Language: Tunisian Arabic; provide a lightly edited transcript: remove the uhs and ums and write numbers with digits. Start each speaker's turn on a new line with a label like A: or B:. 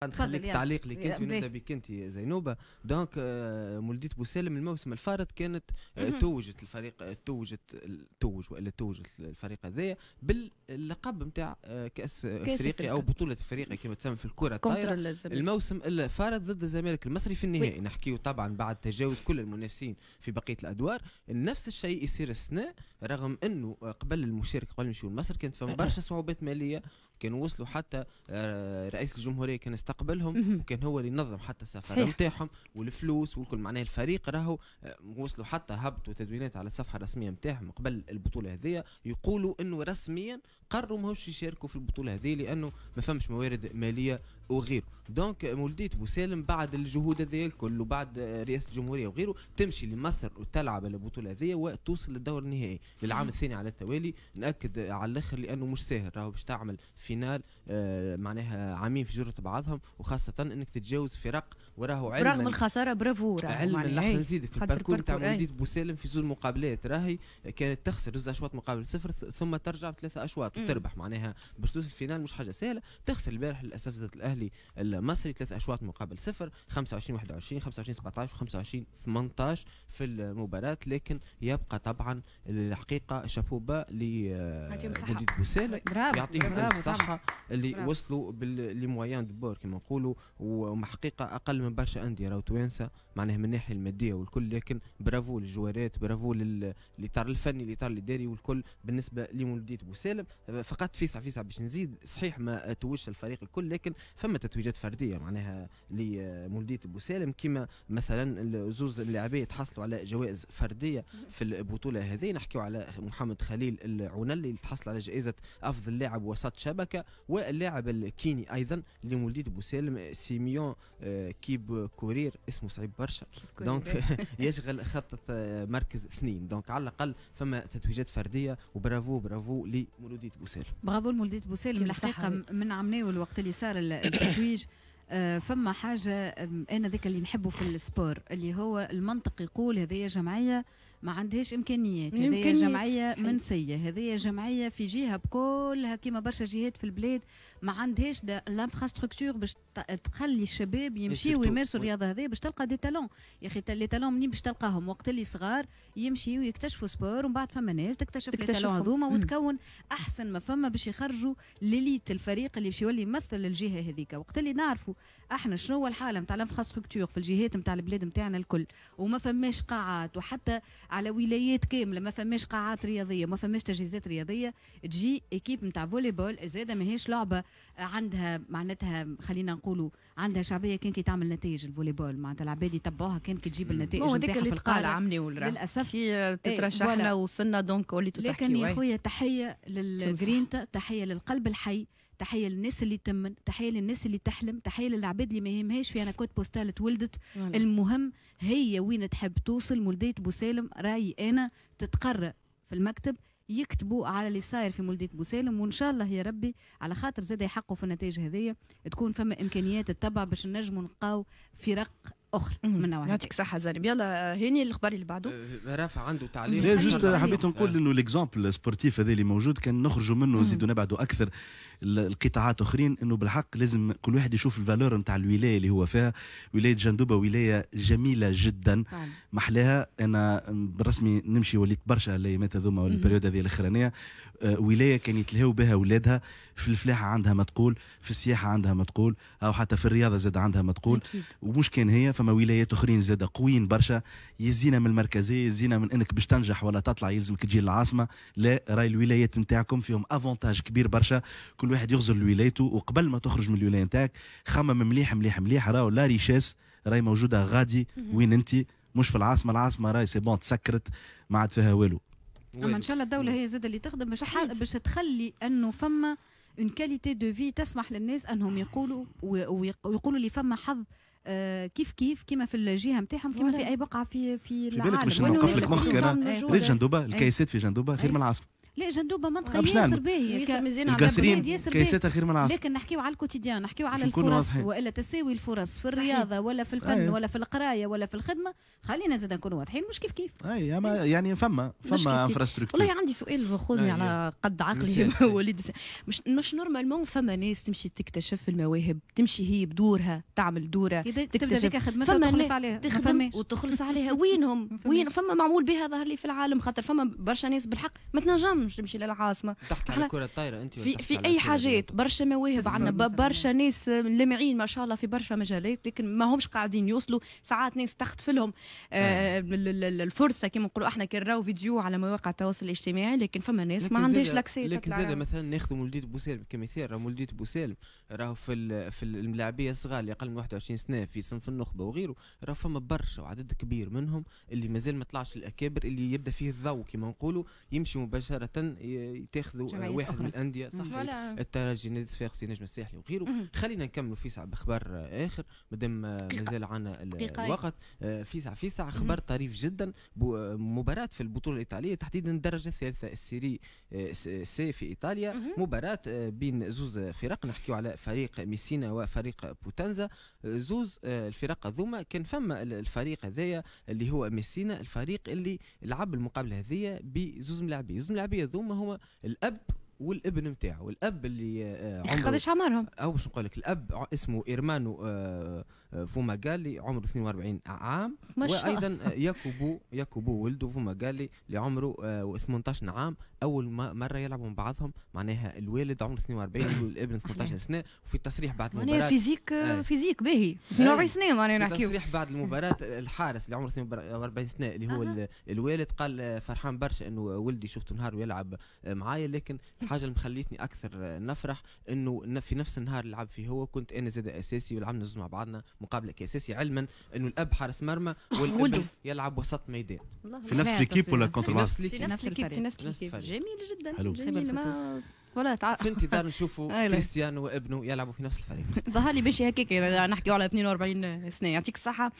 A: نخليك تعليق لك انت ونبدا بك انت زينوبه. donc مولودية بوسالم الموسم الفارط كانت توجت الفريق، توج والا توجت الفريق هذايا باللقب نتاع كاس افريقيا او بطوله افريقيا كما تسمى في الكره الطايره، الموسم الفارط ضد الزمالك المصري في النهائي. نحكيو طبعا بعد تجاوز كل المنافسين في بقية الادوار. نفس الشيء يصير السنه، رغم انه قبل المشاركه، قبل نمشيو لمصر، كانت فما برشا صعوبات ماليه، كانوا وصلوا حتى رئيس الجمهورية كان استقبلهم وكان هو اللي نظم حتى السفر نتاعهم والفلوس والكل. معناه الفريق راهو وصلوا حتى هبطوا تدوينات على الصفحة الرسمية نتاعهم قبل البطولة هذه يقولوا انه رسميا قرروا ماهوش يشاركوا في البطولة هذه لانه ما فمش موارد ماليه وغيره. donc مولودية بوسالم بعد الجهود هذه الكل وبعد رئاسة الجمهورية وغيره تمشي لمصر وتلعب البطولة هذه وتوصل للدور النهائي للعام الثاني على التوالي. ناكد على الاخر لانه مش ساهل راهو باش تعمل finale معناها عامين في جرة بعضهم، وخاصة انك تتجاوز فرق وراهو علما
B: رغم الخسارة برافو.
A: علما لحظة نزيدك في ال parcours نتاع مولودية بوسالم في زوج مقابلات راهي كانت تخسر زوج اشواط مقابل صفر ثم ترجع بثلاثة اشواط وتربح، معناها باش توصل ال finale مش حاجة سهلة. تخسر البارح للاسف ضد الاهلي المصري 3 اشواط مقابل صفر، 25-21، 25-17 و25-18 في المباراة. لكن يبقى طبعا الحقيقة chapeau bas لمولودية بوسالم، يعطيهم الف صحة اللي برافو. وصلوا ب les moyens du bord كما نقولوا، وحقيقة اقل من برشا اندية راهو توانسة معناها من الناحية المادية والكل، لكن برافو للجوارات، برافو للاطار الفني، الاطار الاداري والكل بالنسبة لمولودية بوسالم. فقط فيسع فيسع باش نزيد، صحيح ما توجش الفريق الكل لكن فما تتويجات فردية معناها لمولودية بوسالم، كما مثلا زوز اللاعبين تحصلوا على جوائز فردية في البطولة هذه. نحكيو على محمد خليل العنلي اللي تحصل على جائزة افضل لاعب وسط شبكة، واللاعب الكيني ايضا لمولودية بوسالم سيميون كيب كورير، اسمه صعيب برشا، donc يشغل خط مركز 2. donc على الاقل فما تتويجات فردية، وبرافو برافو لمولودية بوسالم.
C: برافو لمولودية بوسالم. الحقيقة من عمناول الوقت اللي صار التتويج فما حاجة انا ذاك اللي نحبه في ال sport اللي هو المنطق يقول هذه جمعية ما عندهاش امكانيات، هذه جمعية منسية، هذه جمعية في جهة بكلها كيما برشا جهات في البلاد ما عندهاش l'infrastructure باش تخلي الشباب يمشيوا ويمارسوا الرياضة هذه باش تلقى des talents. يا اخي les talents منين باش تلقاهم؟ وقت اللي صغار يمشيوا يكتشفوا sport، ومن بعد فما ناس تكتشف les talents هذوما وتكون احسن ما فما باش يخرجوا l'élite الفريق اللي باش يولي يمثل الجهة هذيك. وقت اللي نعرفوا احنا شنو هو الحالة نتاع l'infrastructure في الجهات نتاع البلاد نتاعنا الكل، وما فماش قاعات، وحتى على ولايات كاملة ما فماش قاعات رياضية، ما فماش تجهيزات رياضية، تجي équipe نتاع volley-ball زاده ماهيش لعبه عندها معناتها خلينا نقولوا عندها شعبية كان كي تعمل نتائج ال volley-ball، معناتها العباد يتبعوها كان كي تجيب النتائج
B: نتاعها في القارة.
C: للاسف
B: كي تترشحنا وصلنا donc وليتو
C: تحكي. لكن يا خويا تحية للجرينتا، تحية للقلب الحي، تحية للناس اللي تمن، تحية للناس اللي تحلم، تحية للعباد اللي ما يهمهاش في انا code postal تولدت، المهم هي وين تحب توصل. مولدية بوسالم رايي انا تتقرأ في المكتب، يكتبوا على اللي صاير في مولدية بوسالم، وان شاء الله يا ربي على خاطر زاد يحققوا في النتائج هذيا تكون فما امكانيات تتبع باش نجموا نلقاو فرق اخرى من نوع.
B: يعطيك الصحة زينب. يلا هاني الخبر اللي بعده.
A: رافع عنده تعليق.
D: لا juste حبيت نقول انه l'exemple sportif هذا اللي موجود كان نخرجوا منه ونزيدوا نبعدوا اكثر القطاعات اخرين، انه بالحق لازم كل واحد يشوف ال valeur نتاع الولاية اللي هو فيها. ولاية جندوبه ولاية جميلة جدا محلاها، انا بالرسمي نمشي وليت برشا الايامات هذوما وال période هذه الاخرانية. ولاية كان يتلهوا بها اولادها، في الفلاحة عندها ما تقول، في السياحة عندها ما تقول، او حتى في الرياضة زاد عندها ما تقول. ومش كان هي، فما ولايات اخرين زاد قويين برشا، يزينا من المركزية، يزينا من انك باش تنجح ولا تطلع يلزمك تجي للعاصمه. لا، راي الولايات نتاعكم فيهم avantage كبير برشا، كل واحد يغزر لولايته، وقبل ما تخرج من الولاية نتاعك خمم مليح مليح مليح، راهو la richesse راهي موجودة غادي وين انت، مش في العاصمة. العاصمة راهي c'est bon تسكرت ما عاد فيها والو.
C: اما ان شاء الله الدولة هي زاد اللي تخدم باش تخلي انه فما une qualité de vie تسمح للناس انهم يقولوا ويقولوا اللي فما حظ كيف كيف كيما في الجهة نتاعهم كيما في اي بقعة في
D: العالم. في بالك باش نوقف لك مخك انا، ريت جندوبه الكيسات في جندوبه خير من العاصمة.
C: لا جندوبه منطقة
D: باش
C: ياسر
D: نعلم.
C: باهيه
B: ياسر مزيانه على
D: القصرين
C: البلاد ياسر باهي.
D: كيساتها خير من العاصمة.
C: لكن نحكيو على ال quotidien، نحكيو على
D: باش نكونوا
C: الفرص
D: واضحين.
C: والا تساوي الفرص في الرياضة ولا في الفن ولا في القراية ولا في الخدمة. خلينا زاد نكونوا واضحين، مش كيف كيف.
D: اي اما يعني فما
B: مش
D: فما
B: كيف كيف.
D: infrastructure.
B: والله عندي سؤال، خذني على قد عقلي
A: مثال.
B: وليد، مش normalement فما ناس تمشي تكتشف المواهب، تمشي هي بدورها تعمل دوره
C: تبدا
B: تكتشف.
C: ذيك خدمتها
B: فما
C: وتخلص
B: ناس
C: عليها، ما
B: تخدم
C: فماش.
B: وتخلص عليها. وينهم؟
C: ما
B: وين
C: فماش.
B: فما معمول بها ظهر لي في العالم، خاطر فما برشا ناس بالحق ما تنجمش تمشي للعاصمه.
A: تحكي على
B: احنا
A: الكره الطايره انت ولا
B: في
A: تحكي
B: في
A: على
B: اي
A: الكرة
B: حاجات برشا مواهب عندنا،
C: مثلاً.
B: برشا ناس لامعين ما شاء الله في برشا مجالات، لكن ما همش قاعدين يوصلوا. ساعات ناس تخطف لهم الفرصة كما نقولوا احنا، كي نراو فيديو على مواقع التواصل الاجتماعي، لكن فما ناس ما
A: لكن
B: عندهاش l'accès
A: لكن
B: تطلع.
A: زاد مثلا ناخذ مولودية بوسالم كمثال، راه مولودية بوسالم راهو في الملاعبيه الصغار اللي اقل من 21 سنة في صنف النخبة وغيره، راه فما برشا وعدد كبير منهم اللي مازال ما طلعش الاكابر، اللي يبدا فيه الضوء كما نقولوا، يمشي مباشرة تاخذوا
C: جمعيات
A: واحد
C: أخرى.
A: من الاندية، صح،
B: voilà.
A: الترجي، نادي الصفاقسي، نجم الساحلي وغيره. خلينا نكملوا فيسع بخبر اخر مادام مازال عندنا
B: دقيقة.
A: الوقت. فيسع فيسع، خبر طريف جدا، مباراة في البطولة الإيطالية، تحديدا الدرجة الثالثة ال série C في إيطاليا. مباراة بين زوز فرق، نحكيو على فريق ميسينا وفريق بوتنزا. زوز الفرق هذوما، كان فما الفريق هذايا اللي هو ميسينا، الفريق اللي لعب المقابلة هذيا بزوز ملاعبين. زوز ملاعبين هذوما هما الأب والابن نتاعو. الاب اللي عمره
B: قداش عمرهم؟
A: او باش نقول لك، الاب اسمه ايرمانو فوماغالي عمره 42 عام.
B: ما شاء الله.
A: وايضا ياكوبو ولده فوماغالي اللي عمره 18 عام. اول ما مرة يلعبوا مع بعضهم، معناها الوالد عمره 42 والابن 18 سنة. وفي التصريح بعد
B: معناها
A: المباراة
B: physique physique باهي، 42 سنة معناها
A: في
B: نحكيو.
A: تصريح بعد المباراة، الحارس اللي عمره 42 سنة اللي هو الوالد قال فرحان برشا انه ولدي شفته نهار ويلعب معايا، لكن الحاجة اللي مخليتني اكثر نفرح انه في نفس النهار اللي لعب فيه هو كنت انا زاد اساسي، ولعبنا زوز مع بعضنا مقابلة كاساسي، علما انه الاب حارس مرمى والابن
B: ولده.
A: يلعب وسط ميدان.
D: في نفس l'équipe ولا contre
A: في
D: بعض؟
A: نفس
B: في
A: l'équipe.
B: نفس
C: نفس
B: l'équipe، في
C: الفريق.
B: نفس
A: نفس
B: l'équipe.
A: الفريق.
B: جميل جدا.
D: حلو.
B: جميل ما ولا تعرف.
A: في انتظار نشوفوا
B: أي لا.
A: كريستيانو وابنه يلعبوا في نفس الفريق.
B: ظهر لي باش هكاك نحكيو على 42 سنة. يعطيك الصحة.